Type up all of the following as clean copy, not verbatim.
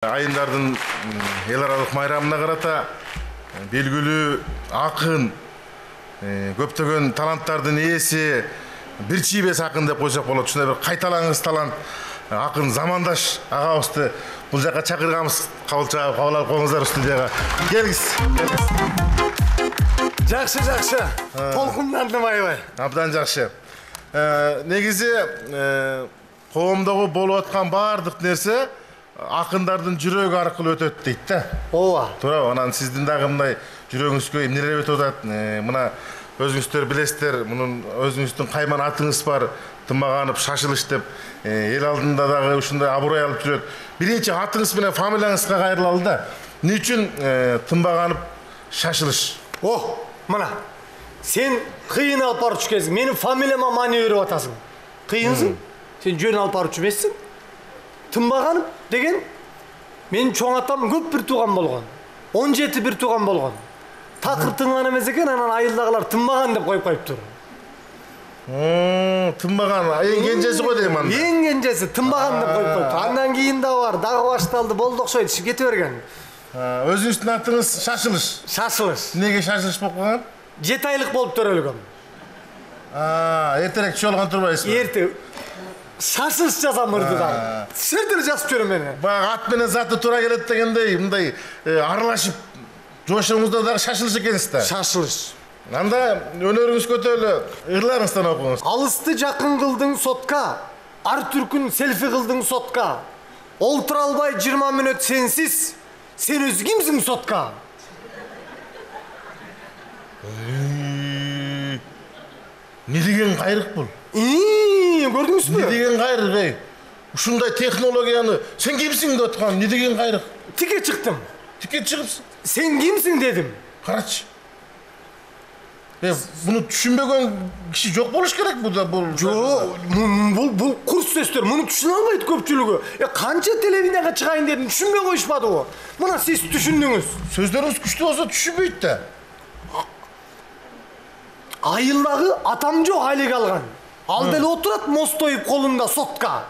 Айындардын эл аралык майрамына карата белгилүү акын, көптөгөн таланттардын ээси, бир чийбес акын деп койсок болот. Ушундай бир кайталаңыз талант акын Замандаш агабызды бул жака чакырганбыз. Кабыл алып коюңуздар студияга. Келиңиз. Жакшы. Толкундандым аябай. Абдан жакшы. Негизи коомдогу болуп аткан баардык нерсе акындардын жүрөгү аркылуу өтөт дейт да. Ооба. Туура, анан сиздин дагы мындай жүрөгүңүзгө эмнелер өтүп атат? Мына өзүңүздөр билесиздер, мунун өзүңүздүн кайман атыңыз бар, Тымбаганов Шашылыш деп эл алдында дагы ушундай аброй алып жүрөт. Биринчи атыңыз менен фамилияңызга кайрылалы да. Эмне үчүн Тымбаганов Шашылыш? Мына. Сен кыйын алып барчу кезиң, менин фамилияма маани берип атасың. Кыйынсың? Сен жөн алып барчу эмессиң? Тымбаганов деген менин чоң атам көп бир тууган болгон. 17 бир тууган болгон. Такыр тыңган эмес экен, анан айылдагылар Тымбаган деп коюп коюптур. Тымбаган эң кенжеси го дейм анда. Эң кенжеси Тымбаган деп коюп коюптур. Андан кийин да бар, дагы башталды, болду окшойт, иши кете берген. Өзүңүздүн атыңыз Шашылыш. Шашылыш. Эмнеге Шашылыш болуп калган? 7 айлык болуп төрөлгөм. Эртерээк чоолгон турбайсызбы? Эрте Шашылыш жазам ырдыдан. Сырдыр жазып жүрөм мен. Баягы ат менен заты туура келет дегендей, мындай аралашып жошуңузда дагы Шашылыш экенсиз да. Шашылыш. Анда өнөрүңүз көтөрүлө, ырларыңыздан окуңуз. Алысты жакын кылдың сотка, ар түркүн селфи кылдың сотка. Олтура албай 20 мүнөт сенсиз, сен өзү кимсиң сотка? Не деген кайрык бул? Көрдүңүзбү? Не деген кайрык, ey? Ушундай технологияны сен кимсиң деп аткан, не деген кайрык? Тике чыктым. Тике чыгыпсың? Сен кимсиң дедим. Карачы. Буну түшүнбөгөн киши жок болуш керек бул. Жок, бул курс сөздөр, муну түшүнө албайт көпчүлүгү. Канча телевизияга чыгайын дедим, түшүнбөй коюшпадыбы? Мына сиз түшүндүңүз. Сөздөрүңүз күчтүү болсо түшүнбөйт да. Айылдагы атам жок айлык алган. Ал деле отурат мост оюп колунда сотка.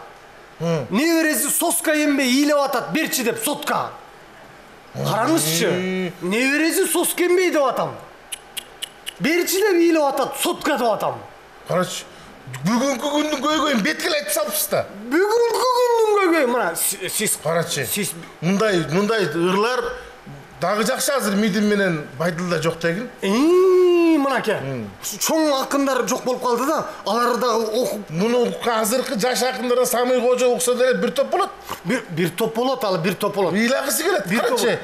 Небереси соска ембей ыйлап атат, берчи деп сотка. Караңызчы, небереси соска ембей деп атам. Берчи деп ыйлап атат, сотка деп атам. Карачы, бүгүнкү күндүн көйгөйүн беткеле айтып салыпсыз да. Бүгүнкү күндүн көйгөйү, мына сиз карачы. Сиз мындай ырлар дагы жакшы азыр мидим менен Байдылда жок дегин. Мынаке, чоң акындар жок болуп калды да, алар дагы окуп. Муну азыркы жаш акындар Самый Кожо укса деле бир топ болот. Бир топ болот, ал бир топ болот. Ыйлагысы келет. Карачы,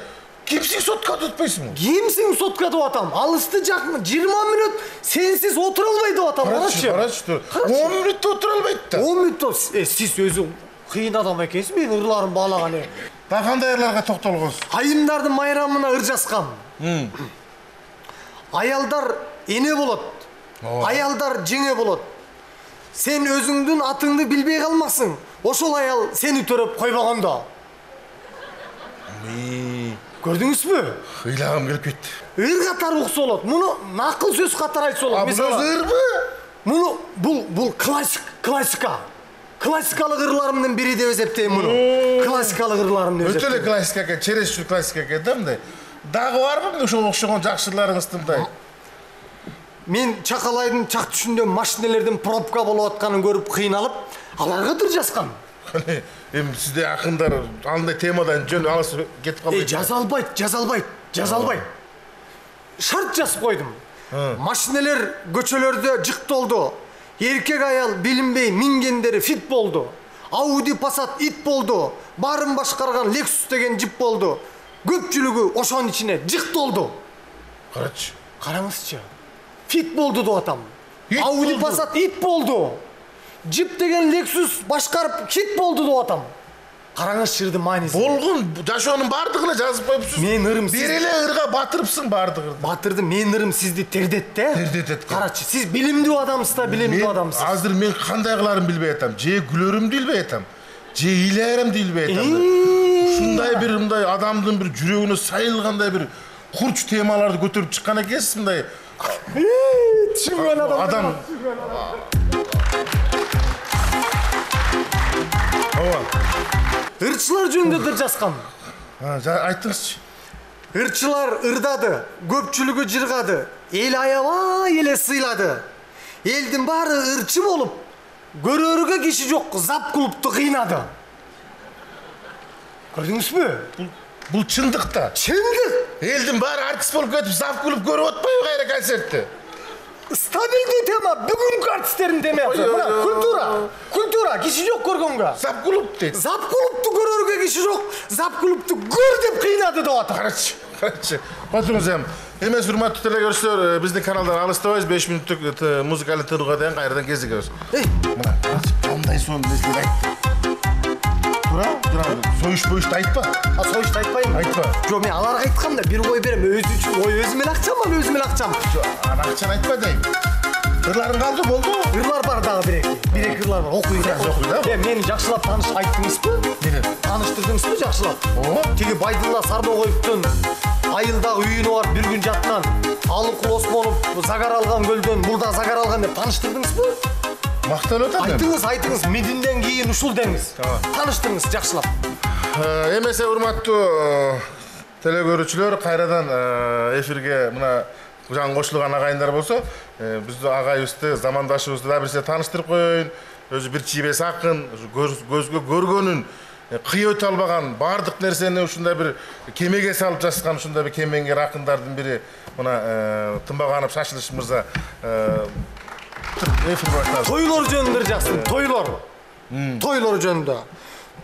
кимсиң сотка деп атпайсыңбы? Кимсиң сотка деп атам. Алысты жакын 20 мүнөт сенсиз отура албай деп атам. Карачы. 10 мүнөттө отура албайт да. 10 мүнөттө сиз өзү кыйын адам экенсиз, мен ырларым баалаган. Да кандай ырларга токтолгонсуз? Айымдардын майрамына ыр жазгам. Аялдар эне болот. Аялдар жеңе болот. Сен өзүңдүн атыңды билбей калмаксың. Ошол аял сени төрөп койбогондо. Көрдүңүзбү? Ыйлагым келип кетти. Ыр катары укса болот. Муну накыл сөз катары айтса болот. Мисалы ырбы? Муну бул классика. Классикалык ырларымдын бири деп эсептейм муну. Классикалык ырларым деп эсептейм. Өтө эле классика экен, чересчур классика экен да мындай. Дагы барбы ошого окшогон жакшыларыңыздын мындай? Мен Чакалайдын чак түшүндө машиналердин пробка болуп атканын көрүп кыйналып, аларга ыр жазгам. Эми сизде акындар андай темадан жөн алыс кетип калбайт. Жаза албайт. Шарт жазып койдум. Машиналер көчөлөрдө жыктолду. Эркек аял билинбей мингендери фит болду. Ауди Passat ит болду. Барын башкарган Lexus деген жип болду. Көпчүлүгү ошонун ичине жыктолду. Карачы. Караңызчы. Фит болду деп атам. Ауди Passat ит болду. Жип деген Lexus башкарып хит болду деп атам. Караңыз шырдын маанисин. Болгон жашоонун бардыгына жазып коюпсуз. Мен ырым бир эле ырга батырыпсың бардыгын. Батырды, мен ырым сизди тердет да. Тердетет. Карачы, сиз билимдүү адамсыз да, билимдүү адамсыз. Азыр мен кандай кыларымды билбей атам. Же күлөрүмдү билбей атам. Же ыйларымды билбей атам. Ушундай бир мындай адамдын бир жүрөгүнө сайылгандай бир курч темаларды көтөрүп чыккан экенсиз мындай. Түшүнгөн адам. Ооба. Ырчылар жөнүндө да жазгам. Айтыңызчы. Ырчылар ырдады, көпчүлүгү жыргады, эл аябай эле сыйлады. Элдин баары ырчы болуп, көрөргө киши жок зап клубту кыйнады. Көрдүңүзбү? Бул чындык да. Чындык. Элдин баары артист болуп кетип, зап клуб көрүп атпайбы кайра концертти? Стабилдүү тема, бүгүнкү артисттердин темасы. Мына культура, киши жок көргөнгө. Зап клуб дейт. Зап клубту көрөргө киши жок, зап клубту көр деп кыйнады деп атат. Карачы. Отуруңуз эми. Эмес урматтуу телекөрүүчүлөр, биздин каналдан алыстабайбыз. 5 минуттук музыкалык тынууга дейин кайрадан кезигебиз. Мына, кандай сонун нерселер айтты. Союшпойушты айтпа. Союшты айтпайм. Айтпа. Жок, мен аларга айткам да, бир ой берем. Өзү үчүн ой өзүм эле акчам. Жок, акчаны айтпа дейм. Ырларың калды, болду. Ырлар бар дагы бир-эки ырлар бар. Окуй да. Мени жакшылап айттыңызбы? Эмне? Таныштырдыңызбы жакшылап? Тиги Байдылла Сарбогоевдун айылдагы үйүнө барып бир күн жаткан, Алыкул Осмонов загар алган көлдөн мурда загар алган деп таныштырдыңызбы? Макталып атат. Айтыңыз, мединден кийин ушул деңиз. Таныштырыңыз жакшылап. Эмесе урматтуу телекөрүүчүлөр, кайрадан эфирге мына жаңы кошулган агайындар болсо, биздин агайыбызды, замандашыбызды да бирсе тааныштырып коеюн. Өзү бир чийбес акын, көзгө көргөнүн кыйып өтө албаган баардык нерсени ушундай бир кемеге салып жазган ушундай бир кемеңгер акындардын бири мына Тынбаганов Шашылыш мырза эфир баштады. Тойлор жөнүндө жазсын. Тойлор жөнүндө.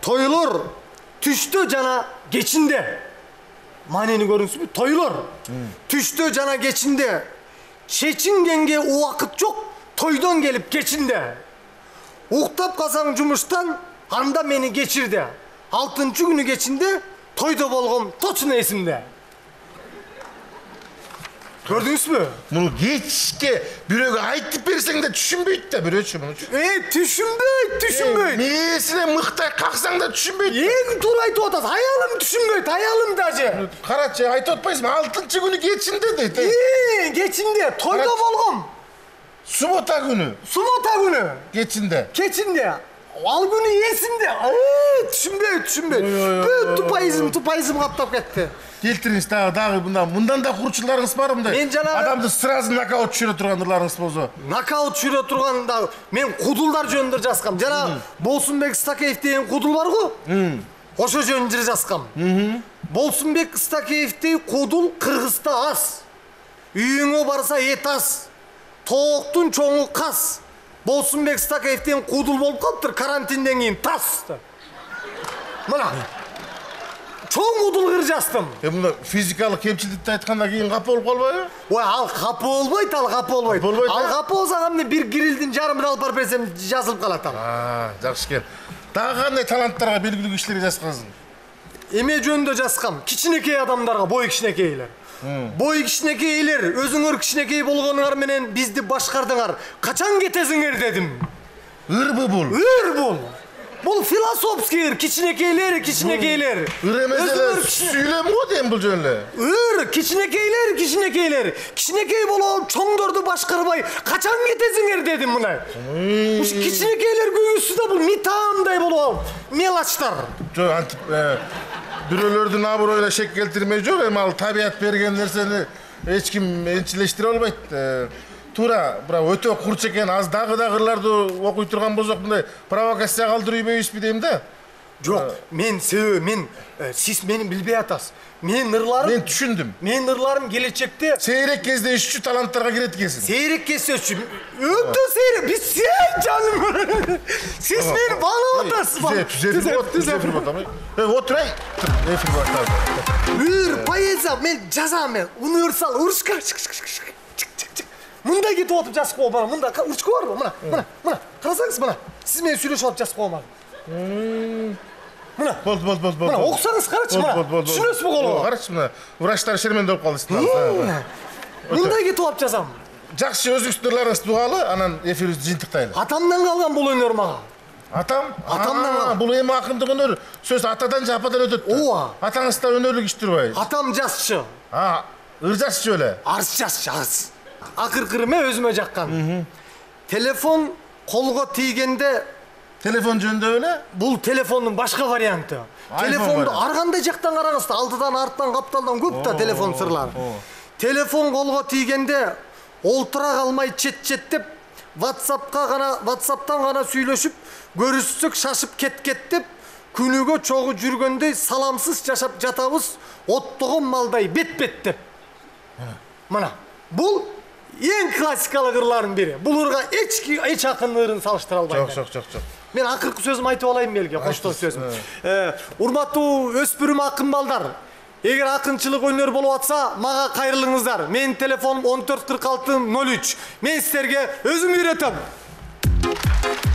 Тойлор түштө жана кечинде. Маанени көрүңүзбү? Тойлор түштө жана кечинде. Чечингенге убакыт жок, тойдон келип кечинде. Уктап калсаң жумуштан, анда мени кечирде. 6-күнү кечинде тойдо болгом точно эсимде. Көрдүңүзбү? Муну кечке бирөөгө айтып берсең да түшүнбөйт да бирөөчү муну. Түшүнбөйт. Мээсине мыктай каксаң да түшүнбөйт. Эң туура айтып атасыз. Аялым түшүнбөйт, аялым даже. Карачы, айтып атпайсызбы? 6-күнү кечинде дейт. Кечинде тойдо болгом. Суббота күнү. Кечинде. Ал күнү эсимде. Түшүнбөйт. Тупайызым каптап кетти. Келтириңиз дагы мындан да курчуларыңыз бар мындай. Мен жанагы адамды сразу нокаут түшүрө турган ырларыңыз болсо. Нокаут түшүрө турган да мен кудулдар жөнүндө жазгам. Жана Болсунбек Стакеев деген кудул бар го? Ошо жөнүндө жазгам. Болсунбек Стакеевдей кудул Кыргызда аз. Үйүңө барса эт аз. Тооктун чоңу кас. Болсунбек Стакеевден кудул болуп калыптыр, карантинден кийин тас. Мына. Чоң кудул кыр жаздым. Мына физикалык кемчиликти айткандан кийин капа болуп калбайбы? Ой, ал капа болбойт. Ал капа болсо кандай бир грилдин жарымын алып барып берсем жазылып калат ал. Жакшы экен. Дагы кандай таланттарга, белгилүү кишилерге жазгансың? Эме жөнүндө жазгам. Кичинекей адамдарга, бой кичинекейлер. Бой кичинекейлер, өзүңөр кичинекей болгонуңар менен бизди башкардыңар. Качан кетесиңер дедим. Ырбы бул? Ыр бул. Бул философский ыр, кичинекейлер. Ыр эмес эле сүйлөм го дейм бул жөн эле. Ыр, кичинекейлер. Кичинекей болуп чоңдорду башкарбай качан кетесиңер дедим мына. Кичинекейлер көйгөсү да бул митаамдай болуп алып, мелочтар. Жок, антип бирөөлөрдүн аброюна шек келтирмей жок, эми ал табият берген нерсени эч ким энчилештире албайт. Туура, бирок өтө курч экен, аз дагы ырларды окуй турган болсок мындай провокация калтырып ийбейбизби дейм да. Жок, сиз мени билбей атасыз. Мен түшүндүм. Менин ырларым келечекте сейрек кездешүүчү таланттарга кирет экенсиң. Сейрек кездешүүчү. Өтө сейрек. Биз жаным. Сиз мени баалап атасыз. Түзөп. Отурай. Эфир башталды. Ыр, поэзия мен жазам, универсал урушка. Мындай кетип отуп жазып койгом, мында урчка барбы? Мына. Карасаңыз мына. Сиз менен сүйлөшүп алып жазып койгом. Мына. Болду. Мына окусаңыз карачы мына. Түшүнөсүзбү колго? Карачы мына. Врачтар шермендеп калды. Мындай кетип алып жазам. Жакшы, өзүңүздүн ырларыңызды угалы, анан эфирибизди жыйынтыктайлы. Атамдан калган бул өнөр мага. Атамдан калган. Бул эми акындык өнөр. Сөз атадан же ападан өтөт. Ооба. Атаңыз да өнөрлүк иш турбайбы? Атам жазчы. Ыр жазчы беле? Арыз жазчы, арыз. Акыркы эме өзүмө жаккан. Телефон колго тийгенде Телефон жөнүндө эле? Бул телефондун башка варианты. Телефонду ар кандай жактан караңыз да, алдыдан, арттан, капталдан көп да телефон сырлары. Телефон колго тийгенде олтура калмай чет-четтеп, WhatsApp'тан гана сүйлөшүп, көрүшсөк шашып кеткет деп, күнүгө чогуу жүргөндөй саламсыз жашап жатабыз, оттогон малдай бет-бет деп. Мына, бул эң классикалык ырлардын бири. Бул ырга эч акын ырын салыштыра албайм. Жок. Мен акыркы сөзүмү айтып алайын белге, коштоо сөзүм. Урматтуу өспүрүм акын балдар, эгер акынчылык өнөр болуп атса, мага кайрылыңыздар. Менин телефонум 144603. Мен силерге өзүм үйрөтөм.